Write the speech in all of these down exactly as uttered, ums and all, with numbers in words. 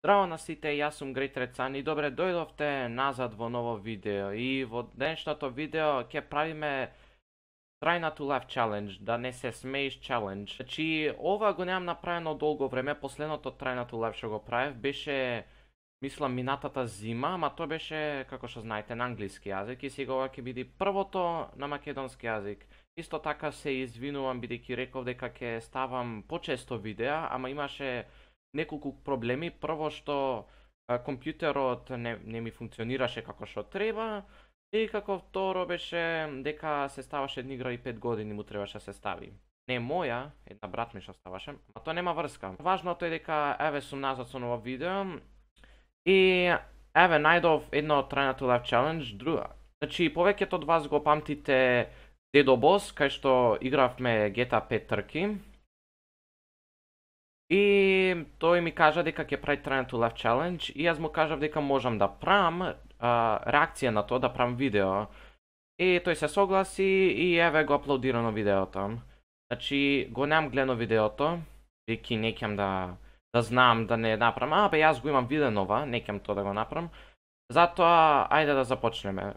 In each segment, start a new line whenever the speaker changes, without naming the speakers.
Здраво на сите, јас сум Great Recan и добре дојдовте назад во ново видео. И во денешното видео ќе правиме Try not to laugh challenge, да не се смееш challenge. Значи, ова го немам направено долго време, последното Try not to laugh што го правев беше, мислам, минатата зима, ама тоа беше, како што знаете, на англиски јазик и сега ова ќе биде првото на македонски јазик. Исто така се извинувам бидејќи реков дека ќе ставам почесто видеа, ама имаше неколку проблеми. Прво што а, компјутерот не, не ми функционираше како што треба, и како второ беше дека се ставаше една игра и пет години му требаше да се стави. Не моја, една брат ми што ставаше, а тоа нема врска. Важното е дека еве сум назад со ново видео и еве најдов едно Try not to laugh challenge, друга. Значи повеќето од вас го памтите Дедо Бос, кај што игравме Джи Ти Ей пет трки. И тој ми кажа дека ќе прави Try not to laugh challenge и јас му кажав дека можам да правам а, реакција на тоа, да правам видео. И тој се согласи и еве го аплодирано видеото. Значи го немам гледано видеото, веќе не ќам да да знам да не направам. А бе јас го имам виденова, не ќам тоа да го направам. Затоа ајде да започнеме.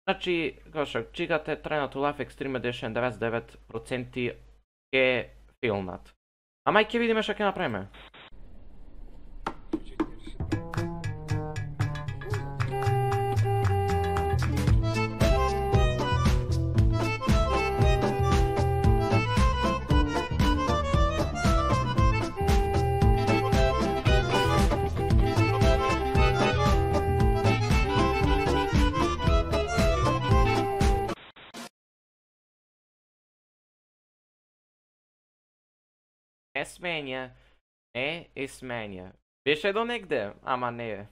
Значи, како што чекате Try not to laugh Extreme Edition деветдесет и девет проценти е филмат. Ама и ќе видиме што ќе направиме. Е сменја, е, е сменја. Беше до негде, ама не е.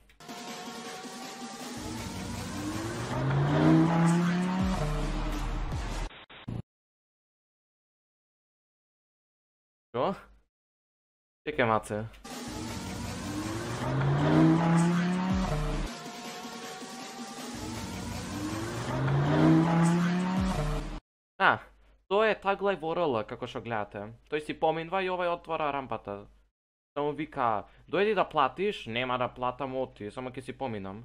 Што? Чекај маце. А, тоа е таглај во РЛ, како што гледате. Тој си поминва и овај отвора рампата. Само вика, дојди да платиш, нема да платам, оти, само ќе си поминам.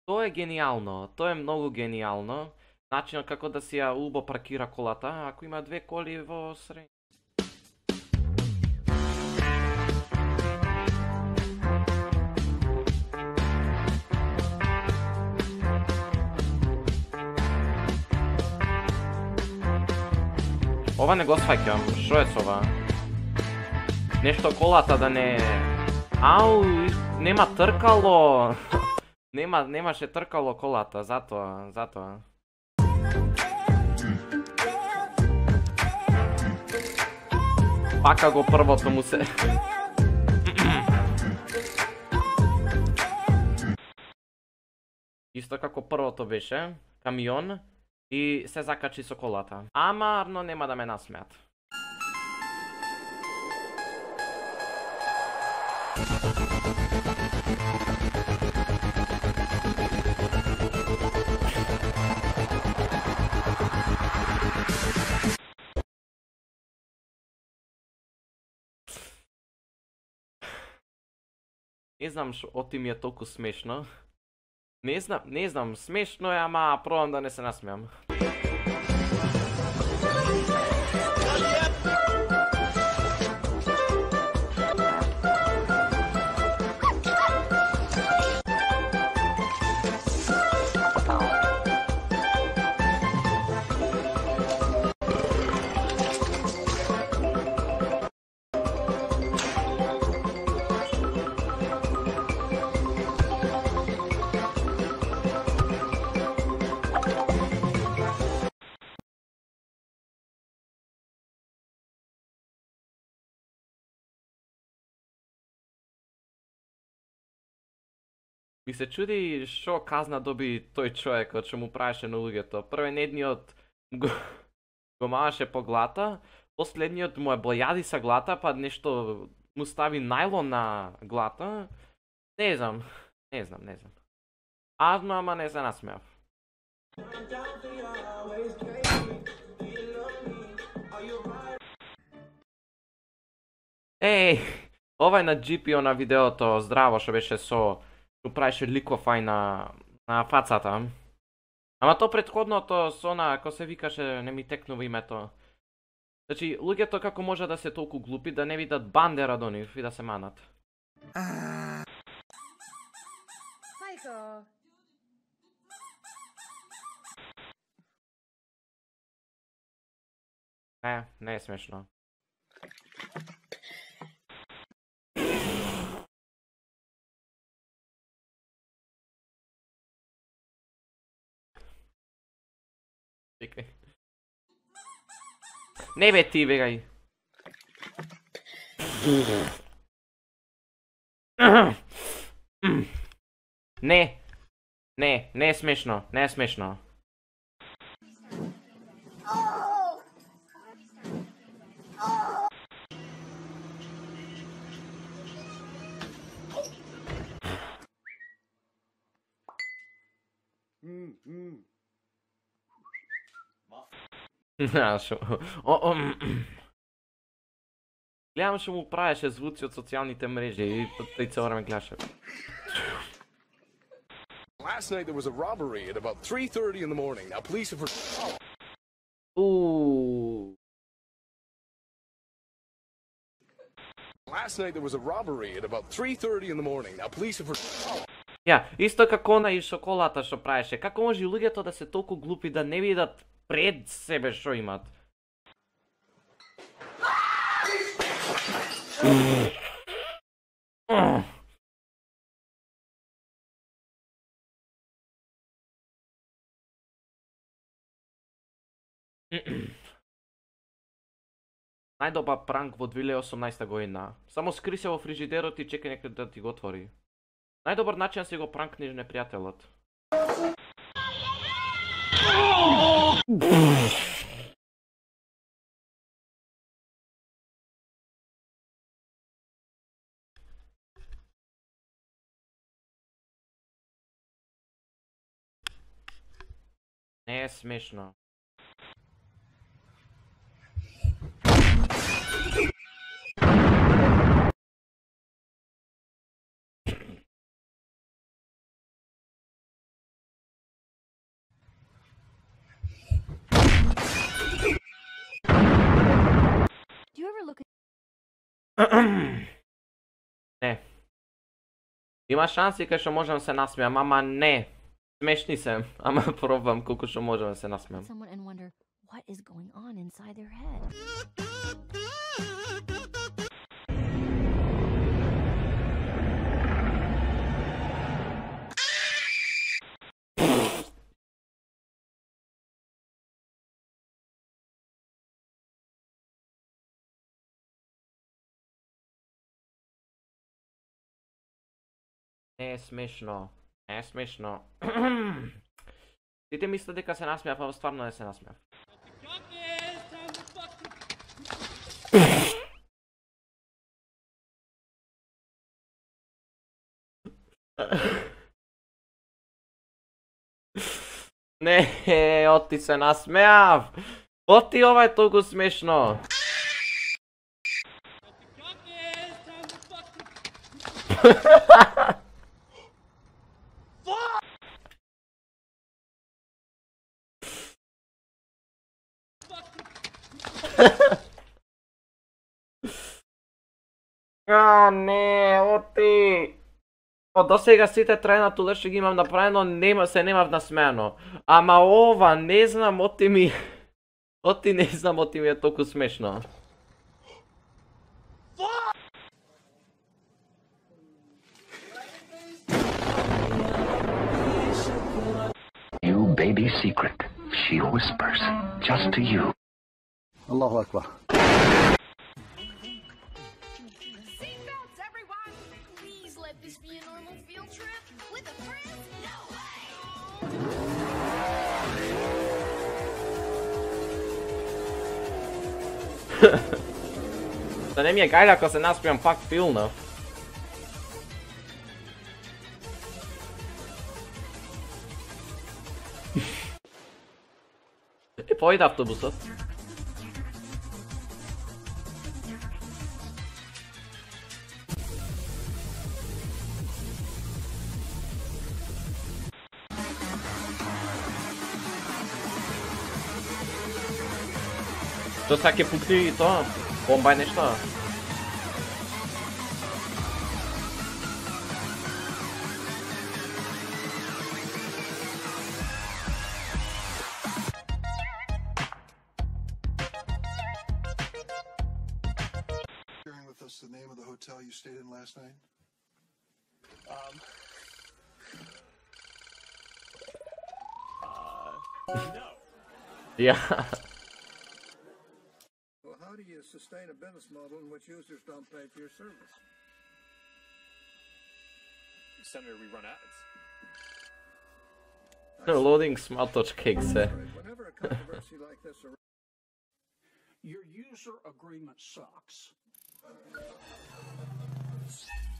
Тоа е гениално, тоа е многу гениално. Начинот како да си ја убо паркира колата, ако има две коли во средина. Ова не го сваќам, што е со ова? Нешто колата да не... Ау, нема тркало! Нема, немаше тркало колата, затоа, затоа. Пака го првото му се. Исто како првото беше, камион и се закачи со колата. Ама, арно нема да ме насмеат. Не знам што оти ми е толку смешно. Не знам, не знам, смешно е, ама пробам да не се насмеам. Ми се чуди што казна доби тој човекот што му правеше на луѓето. Првен едниот го го маваше по глата, последниот му е бојади са глата, па нешто му стави најлон на глата. Не знам, не знам, не знам. Азно, ама не се насмеав. Еј, ова е на Джи Пи на видеото, здраво, што беше со, што правеше ликофај на, на фацата. Ама то претходното со на, ако се викаше, не ми текнува името. Значи, луѓето како може да се толку глупи да не видат бандера до нив и да се манат.
Мајко.
Не, не е смешно. Чекај. Не бе ти, бегај. Не. Не, не е смешно, не е смешно. Гледам што му правеше звуци од социјалните мрежи и тој цело време гледаше.
Last night there was a robbery at about three thirty in the morning. Now police have...
Ooh.
Last night there was a robbery at about three thirty in the morning. Now police have...
Ја, исто како она и шоколата што правеше. Како може луѓето да се толку глупи да не видат пред себе што имат? Најдобар пранк во две илјади и осумнаесета година. Само скри се во фрижидерот и чекај некој да ти го отвори. Најдобар начин да си го пранкнеш непријателот. Не е смешно. Не. Има шанси кај што можам се насмеам, ама не. Смешни се, ама пробам колку што можам да се насмеам.
Someone and wonder what is going on inside their head.
Не е смешно. Не е смешно. Сите мислат дека се насмеав, а стварно не се насмеав. Не, оти се насмеав. Оти ова е толку смешно. А, не, оти. Од досега сите трајнато леше ги имам направено, нема се немав насмеано. Ама ова, не знам, оти ми... Оти не знам, оти ми е толку смешно.
You baby secret, she whispers, just to you.
Allahu Akbar.
Seatbelts, everyone! Please let this be a normal field trip with a friend? No way!
Да не ми е гајле ако се насмеам пак филнав. И појде автобусот. Што са ќе пукни и тоа? Бомба е нешто?
Sharing with us the name of the hotel you stayed in last night?
Um. No.
Ja.
Well, how do you sustain a business model in which users don't pay for your service?
Senator, we run ads.
Loading smart touch cakes.
Whenever a controversy like this arises,
Your user agreement sucks.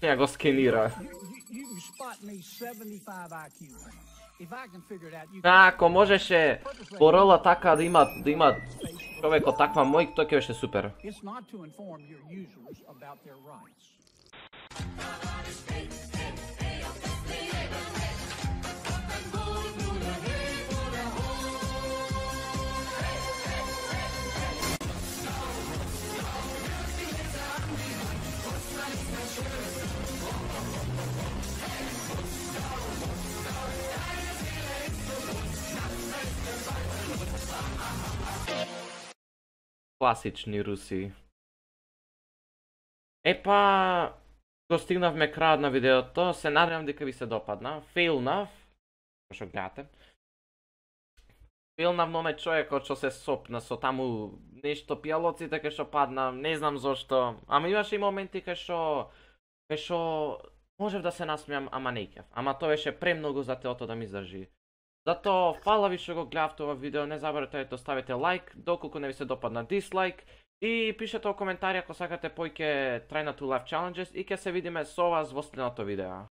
Ja го скенира.
You, you, you can spot me seventy-five I Q. If I can figure it out, you
А, ако можеше порола така да има да има човек од таква мој, тоа ќе беше супер.
It's not to inform your users about their rights.
Класични руси. Епа, го стигнавме крајот на видеото, се надевам дека ви се допадна. Фейлнав, што гледате. Фейлнав, но не човекот што се сопна со таму нешто пијалоците кај што падна, не знам зошто. Ама имаше и моменти кај што кај што можев да се насмеам, ама не ќев. Ама тоа беше премногу за телото да ми издржи. Затоа, фала ви што го гледавте ова видео, не заборавте да ставите лайк, доколку не ви се допадна дислайк, и пишете во коментари ако сакате поќе Try Not To Laugh Challenges и ќе се видиме со вас во следното видео.